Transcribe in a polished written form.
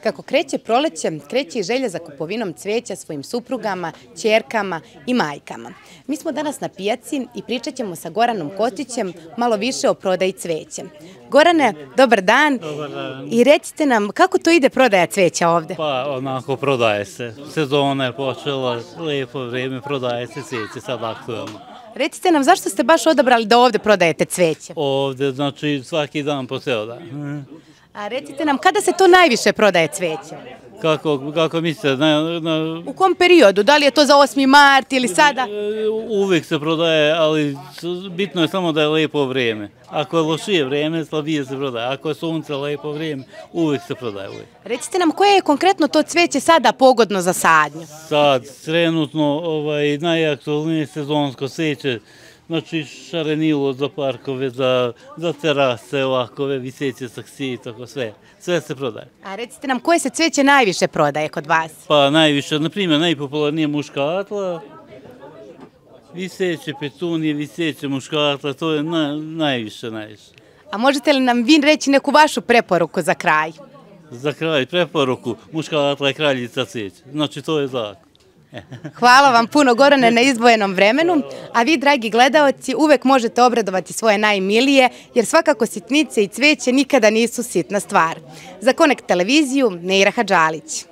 Kako kreće proleće, kreće i želja za kupovinom cveća svojim suprugama, ćerkama i majkama. Mi smo danas na pijaci i pričat ćemo sa Goranom Kostićem malo više o prodaji cveća. Gorane, dobar dan. Dobar dan. I recite nam kako to ide prodaja cveća ovde? Pa onako prodaje se. Sezona je počela, lijepo vrijeme, prodaje se cveće, sad aktualno. Recite nam zašto ste baš odabrali da ovde prodajete cveće? Ovdje, znači svaki dan po ceo dan. A recite nam kada se to najviše prodaje cveće? Kako mislite, U kom periodu? Da li je to za 8. mart ili sada? uvijek se prodaje, ali bitno je samo da je lijepo vrijeme. Ako je lošije vrijeme, slabije se prodaje. Ako je sunce, lijepo vrijeme, uvijek se prodaje. Uvijek. Recite nam koje je konkretno to cveće sada pogodno za sadnju? Sad, trenutno, najaktualnije sezonsko cveće, znači šarenilo za parkove, za terase, ovakove, viseće saksije, tako sve. Sve se prodaje. A recite nam koje se cveće najviše prodaje kod vas? Pa najviše, na primjer, najpopularnije muškatla, viseće petunije, viseće muškatla, to je najviše. A možete li nam vi reći neku vašu preporuku za kraj? Za kraj preporuku, muškatla je kraljica cveća, znači to je zakon. Hvala vam puno, Gorane, na izdvojenom vremenu, a vi, dragi gledaoci, uvek možete obradovati svoje najmilije, jer svakako sitnice i cveće nikada nisu sitna stvar. Za Connect televiziju, Neira Hadžalić.